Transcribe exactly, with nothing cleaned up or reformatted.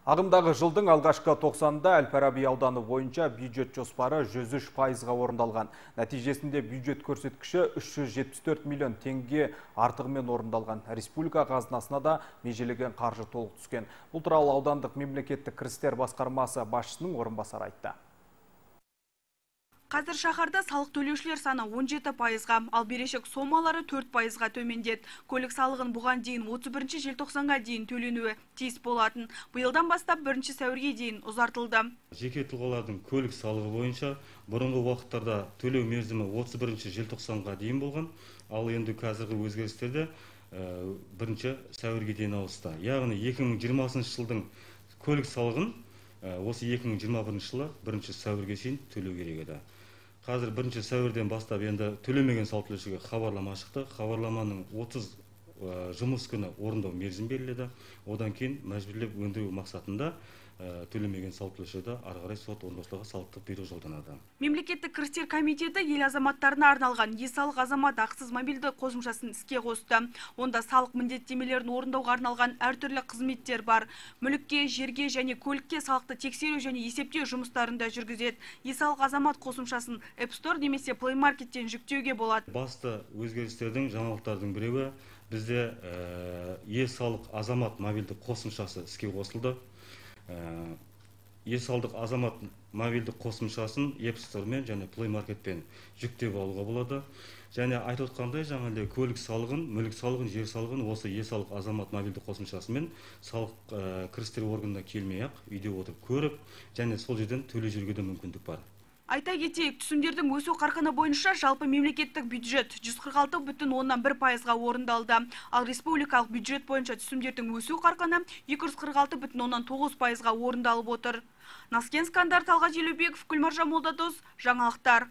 Ағымдағы жылдың алғашқы тоқсанында Әл-Фараби ауданы бойынша бюджет жоспары жүз үш пайызға орындалған. Нәтижесінде бюджет көрсеткіші үш жүз жетпіс төрт миллион теңге артығымен орындалған. Республика қазынасына да межелеген қаржы толық түскен. Бұл туралы аудандық мемлекеттік кірістер басқармасы басшысының орынбасары айтты. Қазір шаһарда салық төлеушілер саны он жеті пайызға, ал берешек сомалары төрт пайызға төмендеді. Көлік салығын бұған дейін отыз бірінші желтоқсанға дейін төленуі тиіс болатын. Биылдан бастап бірінші сәуірге дейін ұзартылды. Жеке тұлғалардың көлік салығы бойынша бұрынғы уақыттарда төлеу мерзімі отыз бірінші желтоқсанға дейін болған, ал енді қазіргі өзгерістерде бірінші сәуірге дейін ауысты. Яғни екі мың жиырмасыншы жылдың көлік салығын осы екі мың жиырма бірінші жылы бірінші сәуірге шейін төлеу керек еді. Қазір бірінші сәуірден бастап енді төлемеген салық төлеушіге хабарлама шықты. Хабарламаның отыз жұмыс күні орындау мерзім беріледі. Одан кейін мәжбүрлеп өндіру мақсатында төлемеген салық төлеушіге ары қарай сот орындаушыларға салықтық бұйрық жолданады. Мемлекеттік кірістер комитеті ел азаматтарына арналған е-салық азамат ақысыз мобильді қосымшасын іске қосты. Онда салық міндеттемелерін орындауға арналған әртүрлі қызметтер бар. Мүлікке, жерге және көлікке салықты тексеру және есептеу жұмыстарында жүргізеді. Е-салық азамат қосымшасын App Store немесе Play Market'тен жүктеуге болады. Басты өзгерістердің, жаңалықтардың біреуі бізде е-салық азамат мобильді қосымшасы іске қосылды. Е-салық азамат мобильді қосымшасын App Store мен және Play Market'пен жүктеп алуға болады. Және айтып отқандай, жаңағыдай көлік салығын, мүлік салығын, жер салығын осы е-салық азамат мобильді қосымшасымен салық кірістер органына келмей-ақ үйде отырып көріп, және сол жерден төлей жүруге де мүмкіндік бар. Айта кетейік, түсімдердің өсу қарқыны бойынша жалпы мемлекеттік бюджет жүз қырық алты бүтін оннан бір пайызға орындалды. Ал республикалық бюджет бойынша түсімдердің өсу қарқыны екі жүз қырық алты бүтін оннан тоғыз пайызға орындалып отыр. Наскен Скандар, Талғат Елеубеков, Гүлмаржан Молдадос, жаңалықтар.